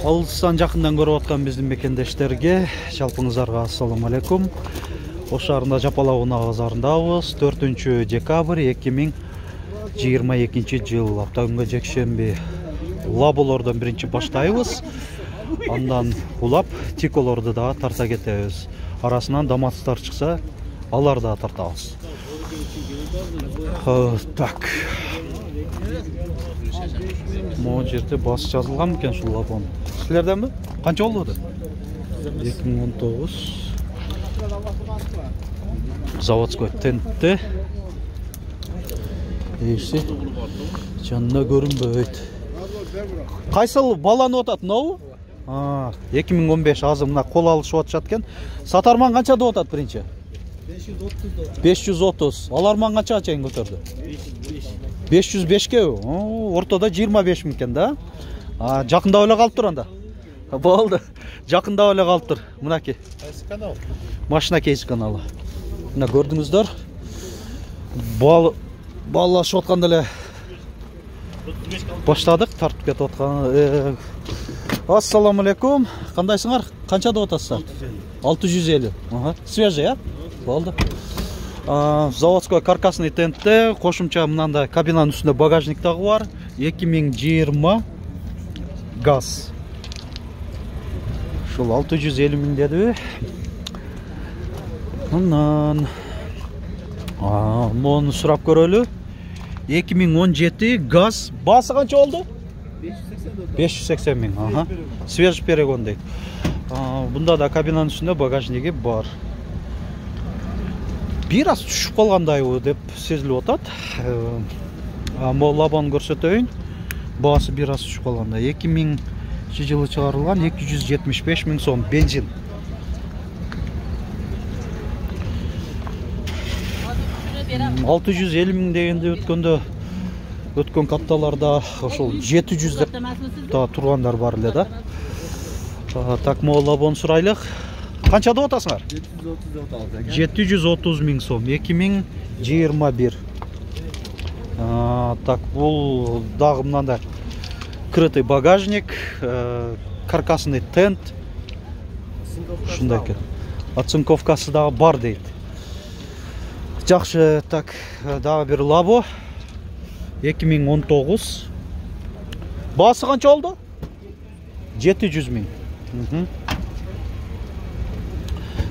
Алыстан жакындан көрүп аткан биздин мекендештерге жалпыңыздарга ассаламу алейкум. Ош шаарында Жапалак унаа базарындабыз. 4 декабрь 2022 жыл. Апта күнгө жекшемби. Лаболордон биринчи баштайбыз. Андан улап тиколорду да тарта кетебиз. Арасынан даматстар чыкса, алар да тартабыз. Так. Могу жерде бас жазылган экен ушул лабон. Силерденби? Канча болду? 2019. Заводской тентте. Эйси. Жанына көрүнбөйт. Кайсыл баланы отат, ноу? 2015 азыр мына кол алышып атышат экен. Сатарман канчада отат биринчи? 530. Аларман канчага чейин көтөрдү? 505ке. Ортодо 25 миң экен да. Жакындап эле калып тур анда. Болду. Жакындап эле калып тур. Мынакей. Кайсы канал? Машина кейс каналы. Мына көрдүңүздөр. Баллашып атканда эле баштадык, тартып кетип аткан. Ассаламу алейкум. Кандайсыңар? Канчада отасыздар? 650. Свежий, а? Болду. Заводской каркасный тентте кошумча мынандай кабинанын үстүндө багажник дагы бар. 2020 газ. Ушул 650 миң дедиби? Мындан мону сурап көрөлү. 2017 газ. Баасы канча болду? 580 миң. Свежий перегон дейт. Бунда да кабинанын үстүндө багажниги бар. Бир аз түшүп калгандай деп сезилип атат. Могу лабон көрсөтөйүн. Баасы бир аз түшүп калгандай. 2000 жылы чыгарылган 275 миң сом бензин. Алты 650 миң дегенде өткөн капталарда ошол 700 деп тургандар бар эле да. Так, могу лабон сурайлык. Канчада отасыңар? 730 миң сом. 2021. Так, бул дагы мындай крытый багажник, каркасный тент. Ушундай экен. Оцинковкасы дагы бар дейт. Жакшы, так, дагы бир лабо. 2019. Баасы канча болду? 700 миң.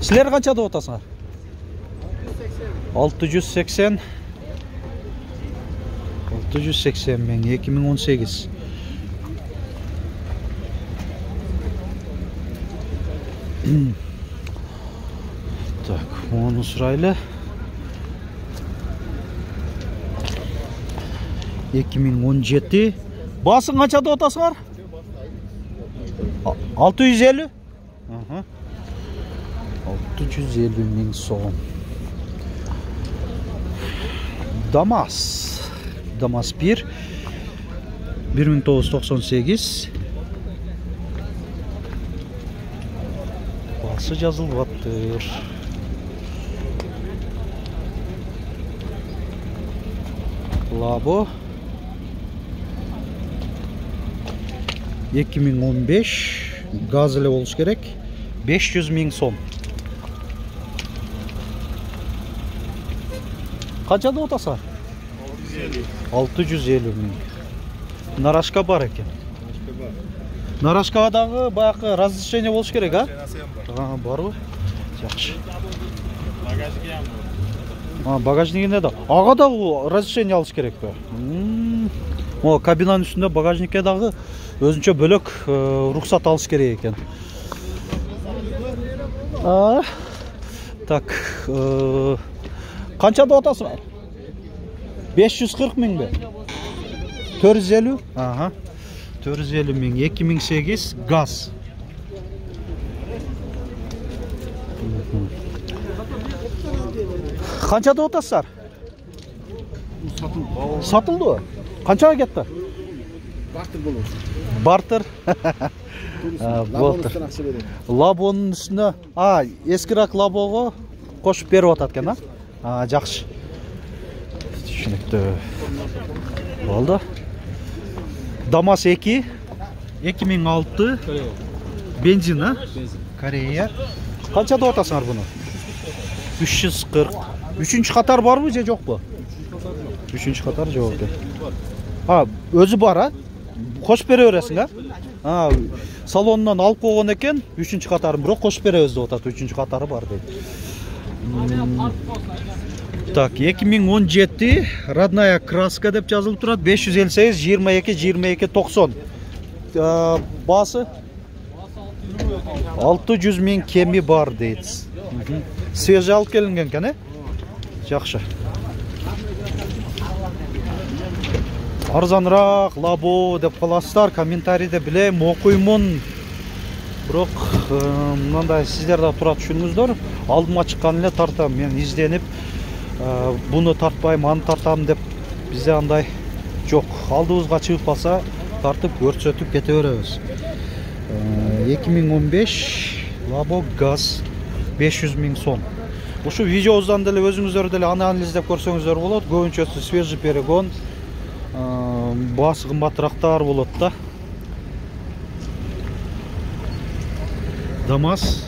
Силер канчада отасыңар? 680 миң. 2018. Так, onu сурайлы. 2017. Баасы канчада отасыңар? 650? 650 миң сом. Дамас 1 1998. Баасы жазылып аттыр. Лабо 2015 газ эле болуш керек. 500 миң сом. Канчада отасыңар? 650 миң. Нарашка бар экен. Нарашкага дагы баягы разрешение болуш керек, а? Барбы? Жакшы. Багажнигине да. Ага да разрешение алыш керекпи? О, кабинанын үстүндө багажникке дагы өзүнчө бөлөк рухсат алыш керек экен. Так, канчада отасыңар? 540 миңби? 450? 450 миң. 2008 газ. Канчада отасызар? Сатылды. Канчага кетти? Бартер болот. Бартер. Лабонун үстүнө, эскирак лабого кошуп берип атат экен, жакшы. Түшүнүктүү. Болду. Дамас 2 2006 бензин, а? Корея. Канча деп атасыңар буну? 340. 3-чү катар барбы же жокпу? 3-чү катар жок экен. Өзү бар, а? Кошуп бере бересиң, а? Салонунан алып койгон экен, 3-чү катарын бирок кошуп беребиз деп атат, 3-чү катары бар дейт. Так, 2017 родная краска деп жазылып турат, 558 22 90. Басы 600 000 кеми бар дейт. Свежий алып келинген экен, Жакшы. Арзаныраак лабо деп каласыздар, комментарийде билем, окуймун. Бирок мындай сиздер да тура түшүнүңүздөр. Алдыма чыккан эле тартам, мен изденип буну тартпайм, аны тартам деп бизде андай жок. Алдыбызга чыгып калса, тартып көрсөтүп кете беребиз. 2015 лабо газ 500 000 сом. Ушу видеобуздан деле өзүңүздөр деле анализдеп көрсөңүздөр болот. Көбүнчөсү свежий перегон, басы кымбатыраактар болот да. ДАМАЗ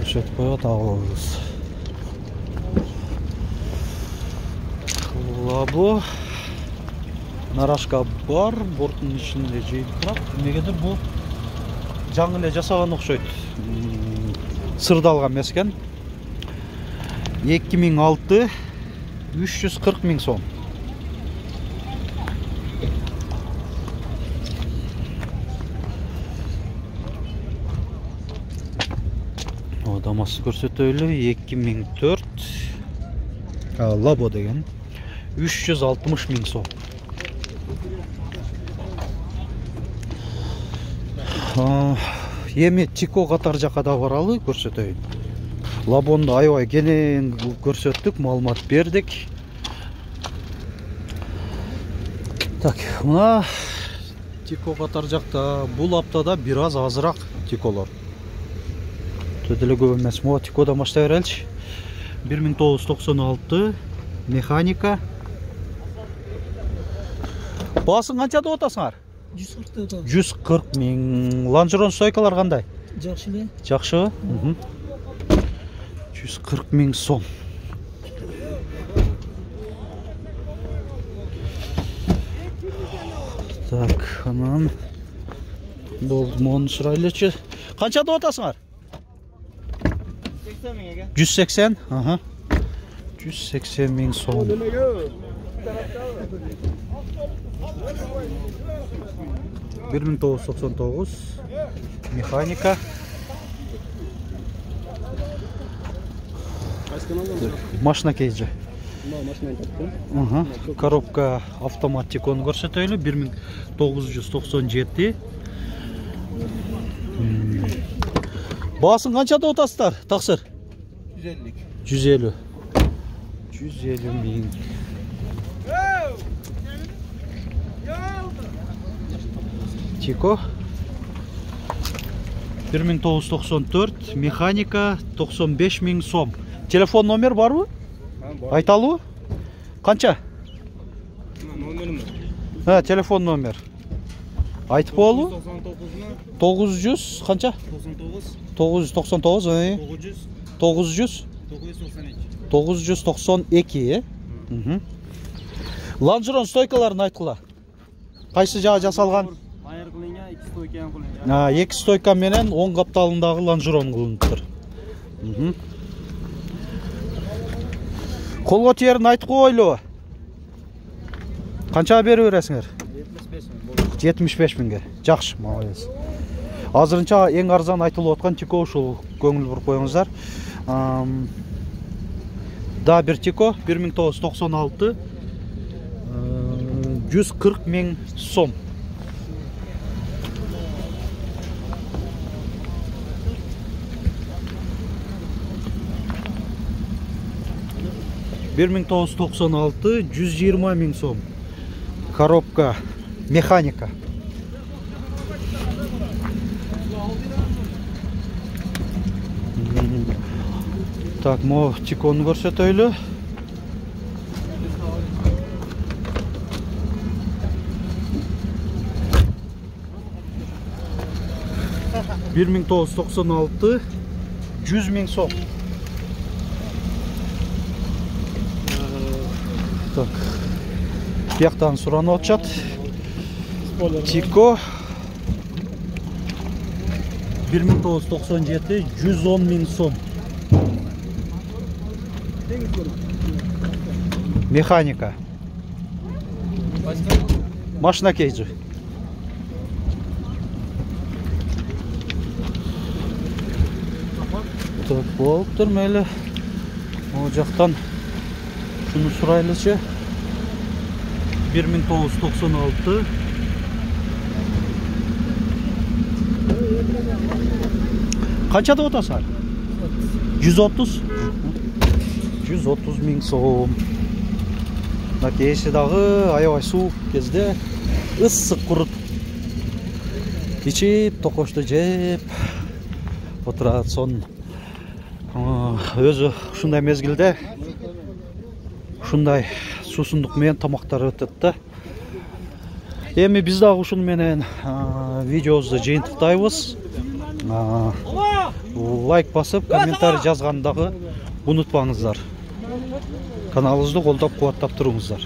көрсөтүп коет, алабыз. Лабо нарашка бар, борттун ичинде жейип турат. Эмнегедир бул жаңы эле жасаган окшойт. Сырдалган эмес экен. 2006 340 000 сом. ДАМАЗ көрсөтөлү 2004 лабо деген 360 000 сом. Эми Тико катар жака да баралы, көрсөтөйүн. Лабонду аябай кенен көрсөттүк, маалымат бердик. Так, мына Тико катар жакта бул аптада бир аз азыраак Тиколор. Төдөлө көп эмес. Мо Тикодан баштай береличи. 1996 механика. Баасын канча деп атасыңар? 140 000. Ланжерон стойкалар кандай? Жакшы эле. Жакшы. 140 000 сом. Так, анан болмон сурайлычы. Канча деп атасыңар? 180 000, 180 000 сом. Bir 1999 механика. Машина кейджи. Коробка автоматикон көрсөтөлү 1997. Баасын канча деп атасыздар? Таксыр? 150. 150 000. Тико 1994 механика 95 000 сом. Телефон номер барбы? Айталуу? Канча? Номерим. Телефон номер. Айтып болу? 900 канча? 999 900 992 Ланжерон стойкаларын айткыла. Кайсы жака жасалган? Эки стойка менен оң капталындагы ланжерон кылыныптыр. Колго тиерин айтып койлу. Канча берип бересиңер? 75 000. Жакшы, молодец. Азырынча эң арзан айтылып аткан Тико ушул, көңүл буруп коюңуздар. Да, бир Тико 1996 140 000 сом. Bir 1996 120 000 сом. Коробка механика. Так, мо Тикону көрсөтөлү. 1996 100 000 сом. Так. Бияктан суранып атышат. Тико 1997 110 000 сом. Механика. Машина кейджи. Так, болуптур мейли. О жактан шуну сурайлычы. 1996. Канча деп атасың? 130. 130 000 сом. Кээси дагы аябай суук кезде ысык курут ичип, токошту жеп отурат. Сон өзү ушундай мезгилде ушундай суусундук менен тамактар өтөт да. Эми биз дагы ушуну менен видеобузду жыйынтыктайбыз. Лайк басып, комментарий жазганды дагы унутпаңыздар. Каналыбызды колдоп, кубаттап туруңуздар.